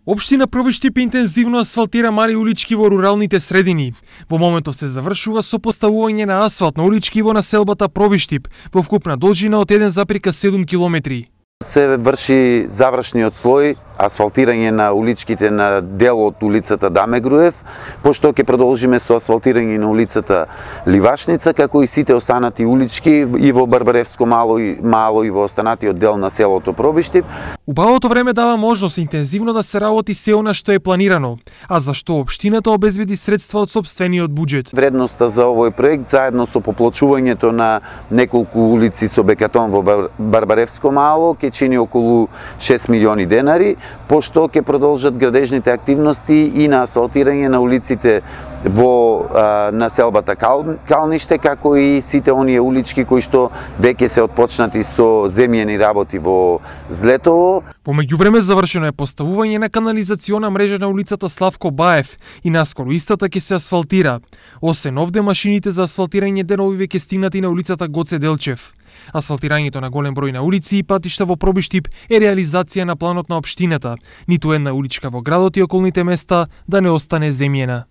Општина Пробиштип интензивно асфалтира мали улички во руралните средини. Во моментов се завршува со поставување на асфалт на улички во населбата Пробиштип во вкупна должина од 1,7 километри. Се врши завршниот слој, асфалтирање на уличките на дел од улицата Даме Груев, пошто ќе продолжиме со асфалтирање на улицата Ливашница, како и сите останати улички и во Барбаревско мало и во останатиот дел на селото Пробиштип. Убавото време дава можност интензивно да се работи се она што е планирано, а зашто општината обезбеди средства од сопствениот буџет. Вредноста за овој проект заедно со поплачувањето на неколку улици со бекатон во Барбаревско мало ќе чини околу 6 милиони денари, пошто ќе продолжат градежните активности и на асфалтирање на улиците во населбата Калниште, како и сите оние улички кои што веќе се отпочнати со земјени работи во Злетово. Во меѓувреме завршено е поставување на канализациона мрежа на улицата Славко Баев и наскоро истата ќе се асфалтира. Освен овде, машините за асфалтирање денови ќе стигнат и на улицата Гоце Делчев. Асфалтирањето на голем број на улици и патишта во Пробиштип е реализација на планот на општината. Ниту една уличка во градот и околните места да не остане земјена.